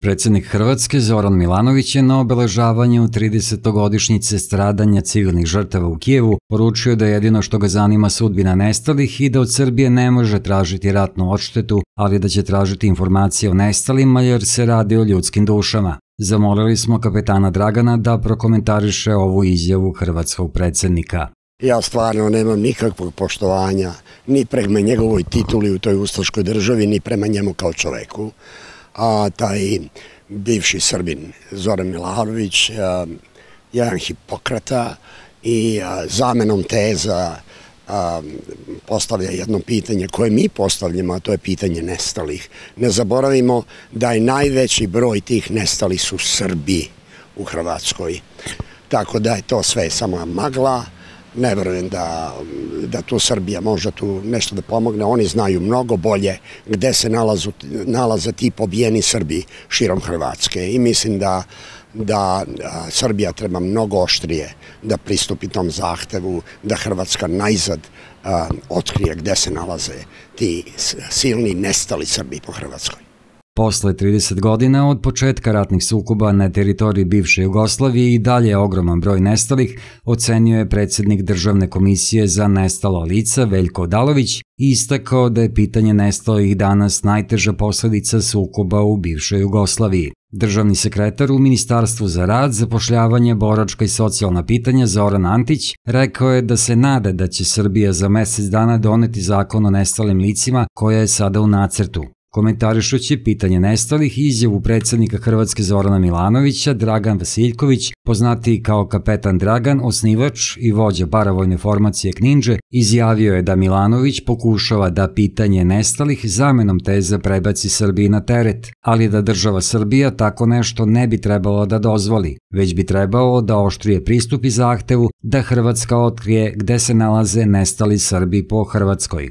Predsjednik Hrvatske Zoran Milanović je na obeležavanju 30-godišnjice stradanja civilnih žrtava u Kijevu poručio da jedino što ga zanima sudbina nestalih i da od Srbije ne može tražiti ratnu odštetu, ali da će tražiti informacije o nestalima jer se radi o ljudskim dušama. Zamolili smo kapetana Dragana da prokomentariše ovu izjavu hrvatskog predsjednika. Ja stvarno nemam nikakvog poštovanja ni prema njegovoj tituli u toj ustaškoj državi, ni prema njemu kao čoveku. A taj bivši Srbin Zoran Milanović jedan Hipokrata i zamenom teza postavlja jedno pitanje koje mi postavljamo, a to je pitanje nestalih. Ne zaboravimo da je najveći broj tih nestalih su Srbi u Hrvatskoj. Tako da je to sve samo magla. Ne verujem da tu Srbija može tu nešto da pomogne. Oni znaju mnogo bolje gde se nalaze ti pobijeni Srbi širom Hrvatske i mislim da Srbija treba mnogo oštrije da pristupi tom zahtevu, da Hrvatska najzad otkrije gde se nalaze ti silni nestali Srbi po Hrvatskoj. Posle 30 godina od početka ratnih sukoba na teritoriji bivše Jugoslavije i dalje ogroman broj nestalih, ocenio je predsjednik Državne komisije za nestala lica Veljko Odalović i istakao da je pitanje nestalih danas najteža posljedica sukoba u bivšoj Jugoslaviji. Državni sekretar u Ministarstvu za rad, zapošljavanje, boračka i socijalna pitanja Zoran Antić rekao je da se nada da će Srbija za mjesec dana doneti zakon o nestalim licima koja je sada u nacrtu. Komentarišući pitanje nestalih i izjavu predsjednika Hrvatske Zorana Milanovića, Dragan Vasiljković, poznatiji kao kapetan Dragan, osnivač i vođa paravojne formacije Kninđe, izjavio je da Milanović pokušava da pitanje nestalih zamenom teze prebaci Srbiji na teret, ali da država Srbija tako nešto ne bi trebalo da dozvoli, već bi trebalo da oštrije pristupi zahtevu da Hrvatska otkrije gde se nalaze nestali Srbi po Hrvatskoj.